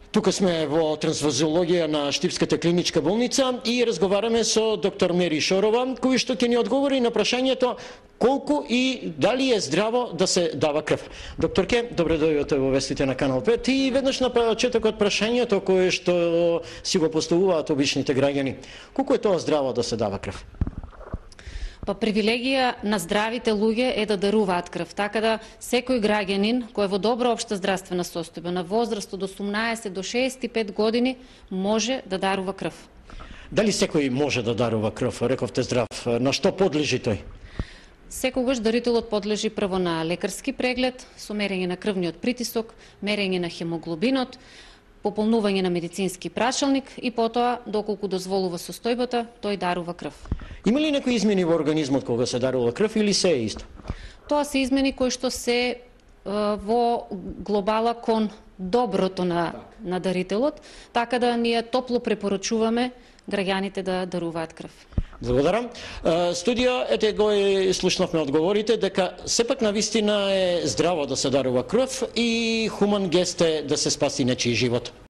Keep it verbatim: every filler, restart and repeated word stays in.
Тука сме во трансфузиологија на Штипската клиничка болница и разговараме со доктор Мери Шорова, кој што ќе ни одговори на прашањето колку и дали е здраво да се дава крв. Докторке, добре дојдовте во вестите на Канал пет и веднаш на почетокот прашањето кое што си го поставуваат обичните граѓани. Колку е тоа здраво да се дава крв? Па привилегија на здравите луѓе е да даруваат крв, така да секој граѓанин кој е во добра општа здравствена состојба на возраст од осумнаесет до шеесет и пет години може да дарува крв. Дали секој може да дарува крв? Рековте здрав. На што подлежи тој? Секогаш дарителот подлежи прво на лекарски преглед со мерење на крвниот притисок, мерење на хемоглобинот, пополнување на медицински прашалник и потоа, доколку дозволува состојбата, тој дарува крв. Има ли некои измени во организмот кога се дарува крв или се е исто? Тоа се измени кои што се е, во глобала кон доброто на, на дарителот, така да ние топло препорачуваме граѓаните да даруваат крв. Благодарам. Студио, ете го и слушнавме одговорите дека сепак на вистина е здраво да се дарува крв и хуман гест е да се спаси нечiji живот.